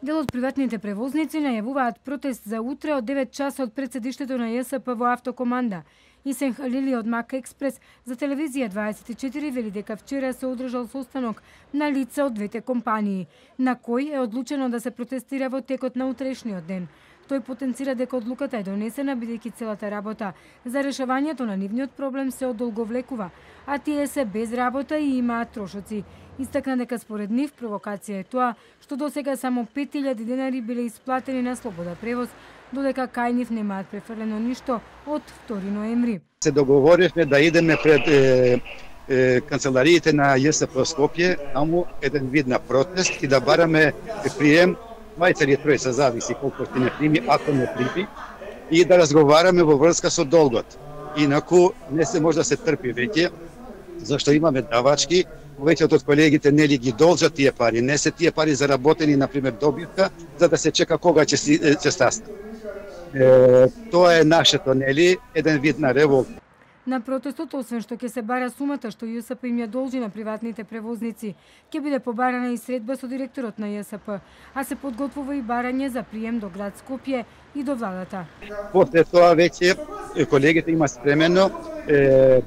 Дел од приватните превозници најавуваат протест за утре од 9 часа од председиштето на ЈСП во Автокоманда. Исен Халили од Мака Експрес за телевизија 24 вели дека вчера се одржал состанок на лица од двете компании, на кој е одлучено да се протестира во текот на утрешниот ден. Тој потенцира дека одлуката е донесена бидејќи целата работа за решавањето на нивниот проблем се одолговлекува, а тие се без работа и имаат трошоци. Истакна дека според нив провокација е тоа што досега само 5000 денари биле исплатени на слобода превоз, додека кај нив немаат префрлено ништо од 2 ноември. Се договоривме да идеме пред канцелариите на ЈСП Скопје, таму еден вид на протест и да бараме прием, мајца или тројца, зависи колку ќе не прими, ако не прими, и да разговараме во врска со долгот. Инаку не се може да се трпи веќе, зашто имаме давачки, повеќето од колегите нели ги должат тие пари, не се тие пари заработени, например, добивка, за да се чека кога ќе стасне. Тоа е нашето, нели, еден вид на револта. На протестот, освен што ќе се бара сумата што ЈСП им ја должи на приватните превозници, ќе биде побарана и средба со директорот на ЈСП, а се подготвува и барање за прием до град Скопје и до владата. После тоа веќе колегите има спремено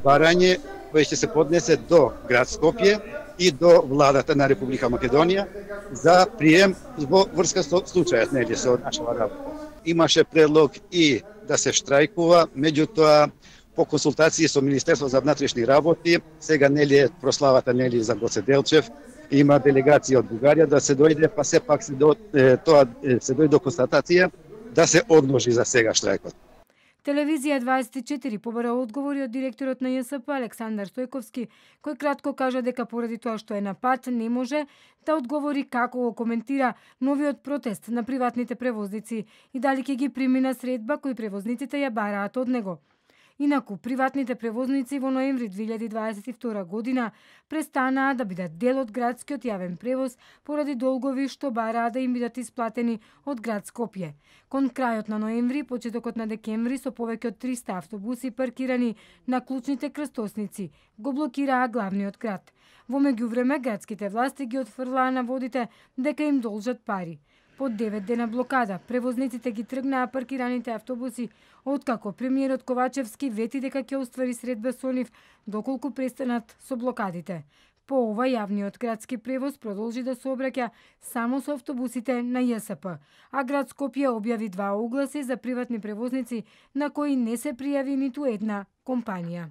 барање кој ќе се поднесе до град Скопје и до владата на Република Македонија за прием во врска со случајот, нели, со нашава работа. Имаше предлог и да се штрајкува, меѓутоа по консултации со Министерството за внатрешни работи, сега нели е прославата нели за Гоце Делчев, има делегација од Бугарија да се дојде, па сепак се дојде до констатација да се одложи за сега штрајкот. Телевизија 24 побара одговори од директорот на ЈСП Александар Стојковски, кој кратко кажа дека поради тоа што е на пат не може да одговори како го коментира новиот протест на приватните превозници и дали ќе ги прими на средба кои превозниците ја бараат од него. Инаку, приватните превозници во ноември 2022 година престанаа да бидат дел од градскиот јавен превоз поради долгови што бараа да им бидат исплатени од град Скопје. Кон крајот на ноември, почетокот на декември, со повеќе од 300 автобуси паркирани на клучните крстосници, го блокираа главниот град. Во меѓувреме, градските власти ги отфрлаа на водите дека им должат пари. По 9 дена блокада, превозниците ги тргнаа паркираните автобуси, откако премиерот Ковачевски вети дека ќе оствари средба со нив доколку престанат со блокадите. По ова, јавниот градски превоз продолжи да се обраќа само со автобусите на ЈСП, а град Скопје објави 2 огласи за приватни превозници на кои не се пријави ниту една компанија.